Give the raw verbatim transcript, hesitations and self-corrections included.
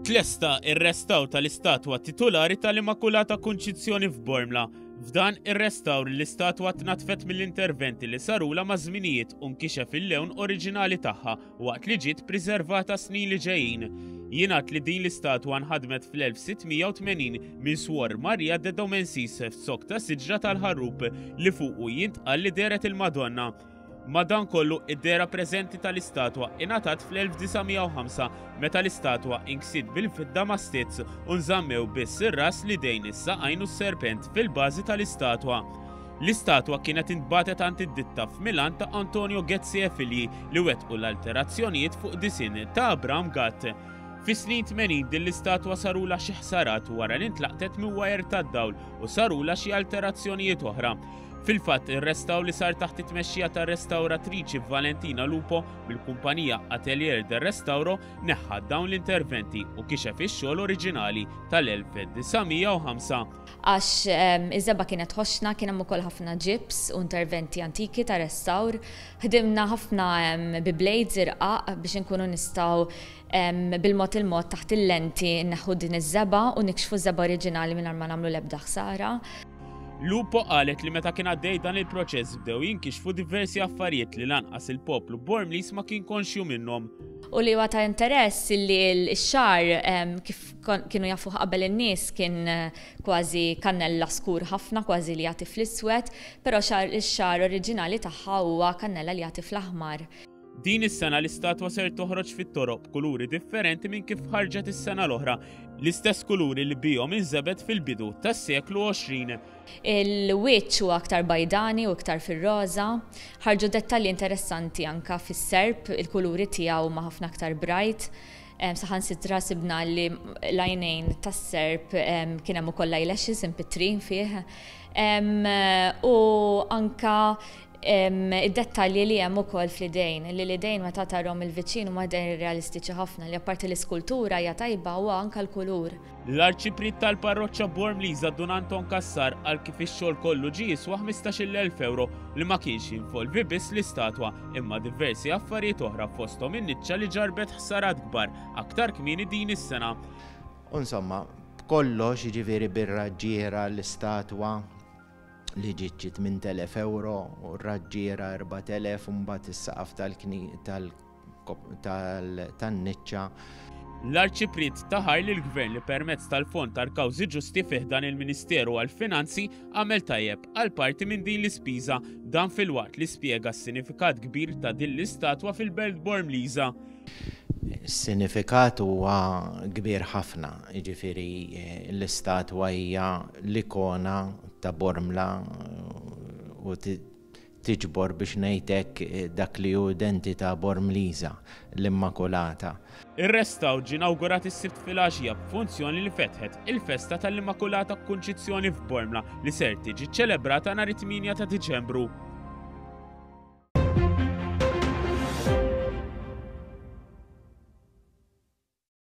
Tlesta ir-restawr tal-istatwa titulari tal-Immakulata Kunċizzjoni f'Bormla. F'dan ir-restawr l-istatwa tnatfet mill-interventi li sarula ma' żminijiet u nkixef il-lewn oriġinali tagħha waqt li ġiet preservata snin li ġejjin. Jingħad li din l-istatwa nħadmet fl-elf sitt mija u tmenin minn Swor Maria de Domensis f'sok ta' siġra tal-ħarrub li fuqu jintqal li dehret il-Madonna. Madankollu, id-dehra preżenti tal-istatwa ingħatat fl-elf disa' mija u ħamsa meta l-istatwa inksiet bil-fidda ma' stizz u nżammew biss ir-ras li dejn is-saqajn u s-serpent fil-bażi tal-istatwa. L-istatwa kienet intbatet għand id-ditta f'Milan ta' Antonio Ghezzi e Figli li wettqu l-alterazzjonijiet fuq disinn ta' Abram Gatt. Fis-snin tmenin din l-istatwa sarula xi ħsarat wara li ntlaqtet minn wajer tad-dawl u sarula xi alterazzjonijiet oħra. Fil-fatt, ir-restawr li sar taħt it-tmexxija tar-restawratriċi Valentina Lupo mill-kumpanija Atelier del Restauro neħħa dawn l-interventi u kixef ix-xogħol oriġinali tal-elf disa' mija u ħamsa. Għax, ehm, iż-żebgħa kienet ħoxna, kien hemm ukoll ħafna ġibs u interventi antiki ta' restawr. Ħdimna ħafna, ehm, bi blades irqaq biex inkunu nistgħu, ehm, bil-mod il-mod taħt il-lenti nneħħu din iż-żebgħa u nikxfu ż-żebgħa oriġinali mingħajr ma nagħmlu l-ebda ħsara. Lupo qalet li meta kien għaddej dan il-proċess bdew jinkixfu diversi affarijiet li lanqas il-poplu Bormlis ma kien konxju minnhom. U li huwa ta' interess li x-xagħar, ehm, kif kon-, kienu jafuh qabel in-nies kien, eh, kważi kannella skur ħafna, kważi li jagħti fl-iswed, però xagħar, ix-xagħar oriġinali tagħha huwa kannella li jagħti fl-aħmar. Din is-sena l-istatwa ser toħroġ fit-toroq b'kuluri differenti minn kif ħarġet is-sena l-oħra, l-istess kuluri li bihom inżebet fil-bidu tas-seklu għoxrin. Il-wiċċ huwa aktar bajdani u iktar fir-roża, ħarġu dettalji interessanti anka fis-serp, il-kuluri tiegħu huma ħafna aktar bright. Em, saħansitra sibna li l-għajnejn tas-serp, em, kien hemm ukoll eyelashes impitrin fih. Em, u anka, em, id-dettalji li hemm ukoll fl-idejn, li l-idejn meta tarhom il-viċin huma idejn realistiċi ħafna, li apparti l-iskultura hija tajba huwa anka l-kulur. L-arċipriet tal-parroċċa Bormliża Dun Anton Cassar qal kif ix-xogħol kollu ġie jiswa ħmistax-il elf euro li ma kienx jinvolvi biss l-istatwa imma diversi affarijiet oħra fosthom in-niċċa li ġarbet ħsarat kbar aktar kmieni din is-sena. U insomma, b'kollox jiġifieri bir-raġġiera l-istatwa li ġiet ġiet minn telef euro u r-raġġiera erbat elef u mbagħad is-saqaf tal-kni-, tal-kop-, tal-, tan-niċċa. L-arċipriet taħar lil gvern li permezz tal-Fond tal-Kawżi Ġusti fih dan il-Ministeru għall-Finanzi għamel tajjeb għal parti minn din l-ispiża, dan filwaqt li spjega s-sinifikat kbir ta' din l-istatwa fil-Belt Bormliża. Is-sinifikat huwa kbir ħafna, jiġifieri, eh, l-istatwa hija l-ikona ta' Bormla u ti-, tiġbor biex ngħidlek, eh, dak li hu identità Bormliża, l-Immakulata. Ir-restawr ġie inawgurat is-Sibt filgħaxija b'funzjoni li fetħet il-festa tal-Immakulata Kunċizzjoni f'Bormla li ser tiġi ċċelebrata nhar it-tmienja ta' Diċembru.